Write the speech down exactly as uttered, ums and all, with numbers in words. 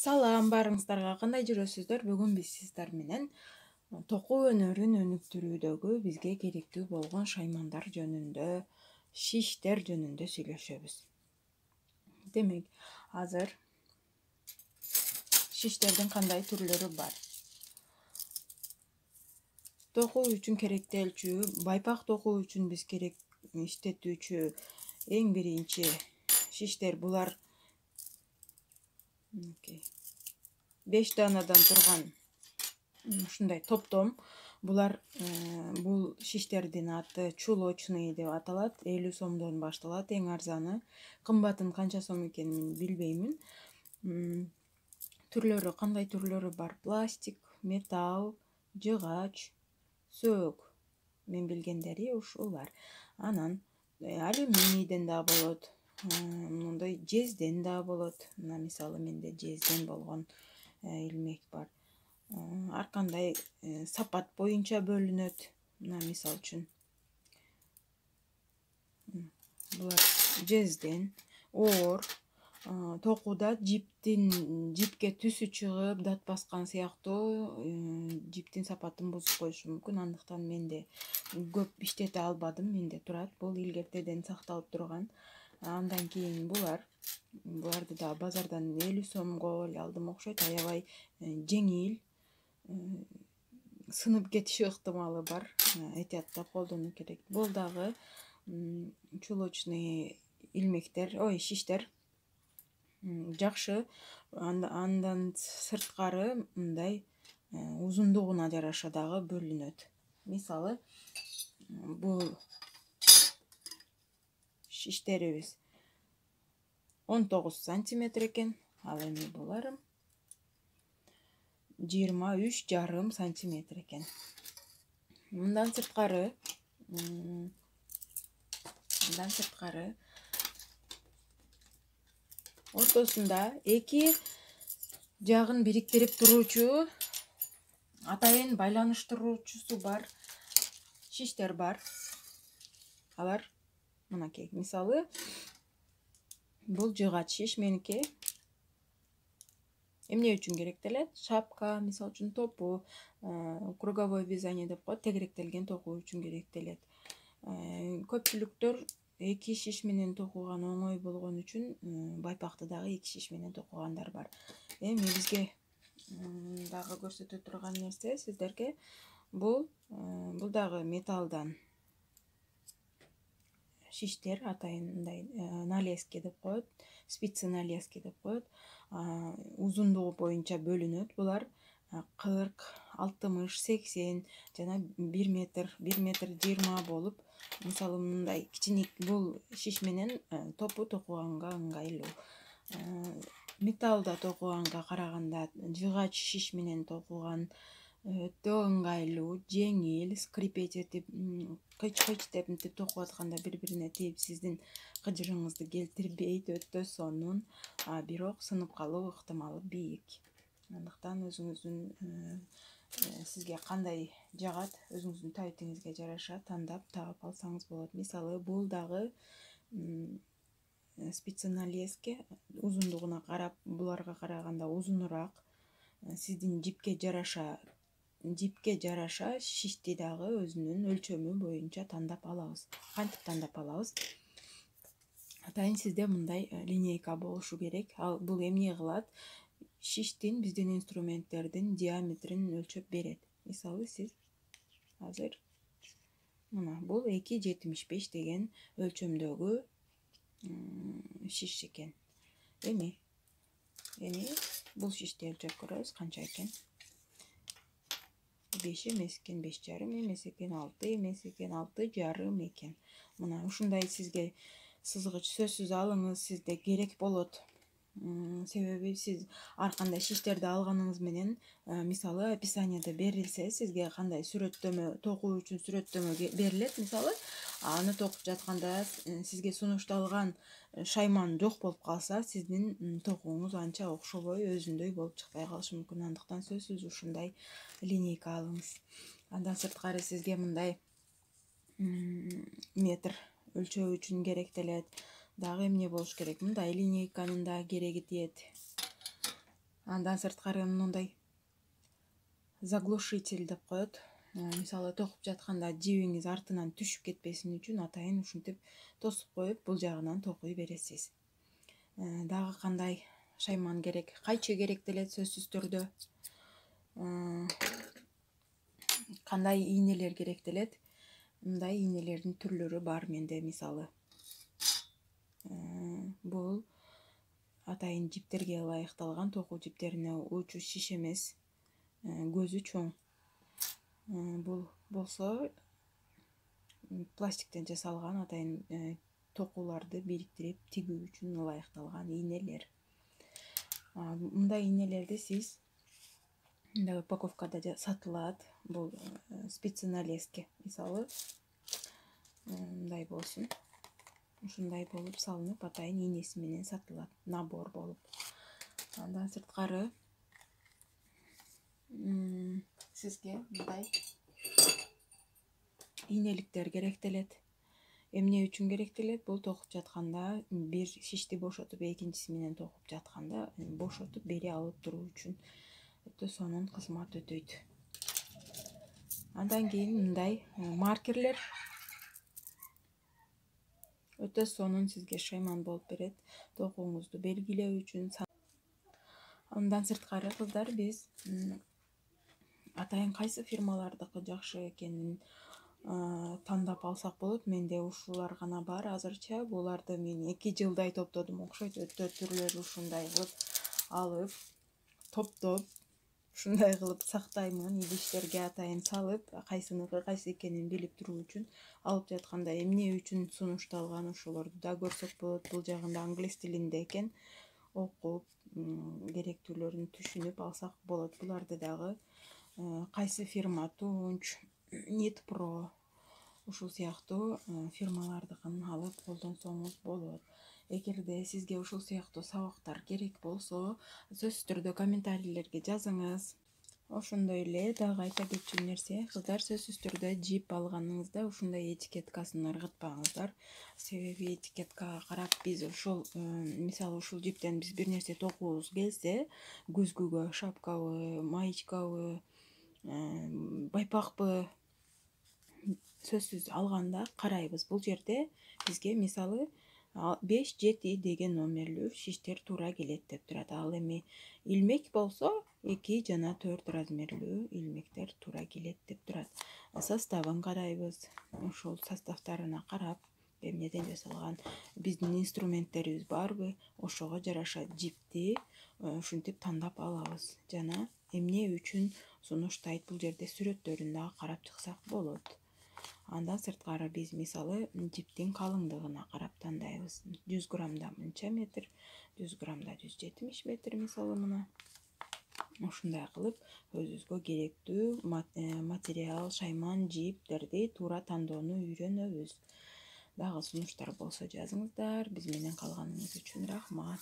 Салам, барыңыздарга кандай жүрөсүздөр? Бүгүн биз сиздер менен токуу өнөрүн өнүктүрүүдөгү бизге керектүү болгон шаймандар жөнүндө, шиштер жөнүндө сүйлөшөбүз. Демек, азыр шиштердин кандай түрлөрү бар? Токуу үчүн керектелчү, байпак токуу үчүн биз керек иштетүүчү эң биринчи шиштер булар беш даанадан турган ушундай топтом. Булар бул шиштердин аты чулочный деп аталат. элүү сомдон башталат эң арзаны. Кымбатын канча сом экенин билбеймин. Түрлөрү кандай түрлөрү бар? Пластик, металл, жыгач, сөөк. Мен билгендери ушулар. Анан алюминийден да болот. Мындай жезден да болот. Мына мисалы менде жезден болгон илмек бар. Ар кандай сапат боюнча бөлүнөт. Мына мисал үчүн булар жезден. Оор токууда жиптин жипке түсү чыгып, дат баскан сыяктуу жиптин сапатын бузуп коюшу мүмкүн. Андыктан менде көп иштете албадым. Менде турат. Бул илгертеден сакталып турган. Андан кийин булар буларды да базардан элүү сомго эле алдым окшойт. Аябай жеңил, сынып кетиши ыктымалы бар. Этияттап колдонуу керек. Бул дагы чулочный илмектер, ой, шиштер жакшы. Андан сырткары мындай узундугуна жараша дагы бөлүнөт. Мисалы, бул шиштерибиз он тогуз сантиметр экен. Ал эми булар жыйырма үч жарым сантиметр экен. Мындан сырткары, мындан сырткары ортосунда эки жагын бириктирип туруучу, атайын байланыштыруучусу бар шиштер бар. Алар мынакей. Мисалы, бул жыгач шиш меники. Эмне үчүн керектелет? Шапка, мисалы үчүн топу, круговое вязание деп коет, тегеректелген токуу үчүн керектелет. Көпчүлүктөр эки шиш менен токуган оңой болгон үчүн байпакты дагы эки шиш менен токугандар бар. Эми бизге дагы көрсөтө турган нерсе сиздерге бул бул дагы металлдан шиштер, атайын мындай налески деп коет, спицы налески деп коет. Узундугу боюнча бөлүнөт. Булар кырк, алтымыш, сексен жана бир метр, бир метр жыйырма болуп, мисалы мындай кичине бул шиш менен топу токуганга ыңгайлуу. Металлда токуганга караганда жыгач шиш менен токуган өтө ыңгайлуу, жеңил, скрипеть этип, кыч-кыч деп мынтип токуп атканда бири-бирине тийип сиздин кыжырыңызды келтирбейт, өтө сонун, а бирок сынып калуу ыктымалы бийик. Андыктан өзүңүздүн сизге кандай жагат, өзүңүздүн табитиңизге жараша тандап таап алсаңыз болот. Мисалы, бул дагы спицы налески, узундугуна карап буларга караганда узунураак. Сиздин жипке жараша жипке жараша шишти дагы өзүнүн өлчөмү боюнча тандап алабыз. Кантип тандап алабыз? Атайын сизде мындай линейка болушу керек. Ал бул эмне кылат? Шиштин, биздин инструменттердин диаметрин өлчөп берет. Мисалы, сиз азыр мына бул эки жетимиш беш деген өлчөмдөгү шиш экен. Эми эми бул шишти өлчөп көрөбүз, канча экен. беш эмес экен, беш жарым эмес экен, алты эмес экен, алты жарым экен. Мына ушундай сизге сызгыч сөзсүз алыңыз, сизде керек болот. Себеби сиз ар кандай шиштерди алганыңыз менен, мисалы, описаниеде берилсе, сизге кандай сүрөттөмө, токуу үчүн сүрөттөмө берилет, мисалы, аны токуп жатканда сизге сунушталган шайман жок болуп калса, сиздин токууңуз анча окшобой, өзүндөй болуп чыкпай калышы мүмкүн. Андыктан сөзсүз ушундай линейка алыңыз. Андан сырткары сизге мындай метр өлчөө үчүн керектелет. Дагы эмне болуш керек? Мындай линейканын да кереги тиет. Андан сырткары мындай заглушитель деп коет. Мисалы токуп жатканда жибиңиз артынан түшүп кетпесин үчүн атайын ушинтип тосуп коюп бул жагынан токуй бересиз. Дагы кандай шайман керек? Кайчы керек делет сөзсүз түрдө. Кандай ийнелер керек делет? Мындай ийнелердин түрлөрү бар менде. Мисалы бул атайын жиптерге ылайыкталган токуу жиптерине учу шиш эмес, көзү чоң. Бул болсо пластиктен жасалган атайын токууларды бириктирип тигүү үчүн ылайыкталган ийнелер. Мындай ийнелерди сиз мындай упаковкада сатылат. Бул спицы на леске мисалы мындай болсун. Ушундай болуп салынып атайын ийнеси менен сатылат, набор болуп. Андан сырткары сизге мындай ийнеликтер керектелет. Эмне үчүн керектелет? Бул токуп жатканда бир шишти бошотуп экинчиси менен токуп жатканда бошотуп бери алып туруу үчүн өтө сонун кызмат өтөйт. Андан кийин мындай маркерлер өтө сонун сизге шайман болуп берет, токууңузду белгилөө үчүн. Андан сырткары кыздар, биз атайын кайсы фирмалардыкы жакшы экенин тандап алсак болот. Менде ушулар гана бар азырча. Буларды мен эки жылдай топтодум окшойт. Өтө түрлөрү ушундай кылып алып, топтоп, ушундай кылып сактаймын. Идиштерге атайын салып, кайсыныкы кайсы экенин билип туруу үчүн алып жатканда эмне үчүн сунушталган ошолорду да көрсөк болот. Бул жагында англис тилинде экен. Окуп, керектүүлөрүн түшүнүп алсак болот. Буларды дагы кайсы фирма, Тунч, Нитпро ушул сыяктуу фирмалардыкын алып колдонсоңуз болот. Эгерде сизге ушул сыяктуу сабактар керек болсо, сөзсүз түрдө комментарийлерге жазыңыз. Ошондой эле дагы айта кетчү нерсе, кыздар, сөзсүз түрдө жип алганыңызда ушундай этикеткасын ыргытпаңыздар. Себеби этикеткага карап биз ушул мисалы ушул жиптен биз бир нерсе токуубуз келсе, күзгүгө, шапкабы, маечкабы, байпакпы сөзсүз алганда карайбыз. Бул жерде бизге мисалы беш жети деген номерлүү шиштер туура келет деп турат. Ал эми илмек болсо эки жана төрт размерлүү илмектер туура келет деп турат. Составын карайбыз. Ушул составтарына карап, эмнеден жасалган, биздин инструменттерибиз барбы, ошого жараша жипти ушинтип тандап алабыз. Жана эмне үчүн сунуштайт, бул жерде сүрөттөрүн дагы карап чыксак болот. Андан сырткары биз мисалы жиптин калыңдыгына карап тандайбыз. жүз граммда мынча метр, жүз граммда жүз жетимиш метр мисалы мына. Ушундай кылып өзүбүзгө керектүү материал, шайман, жиптерди туура тандоону үйрөнөбүз. Дагы сунуштар болсо жазыңыздар. Биз менен калганыңыз үчүн рахмат.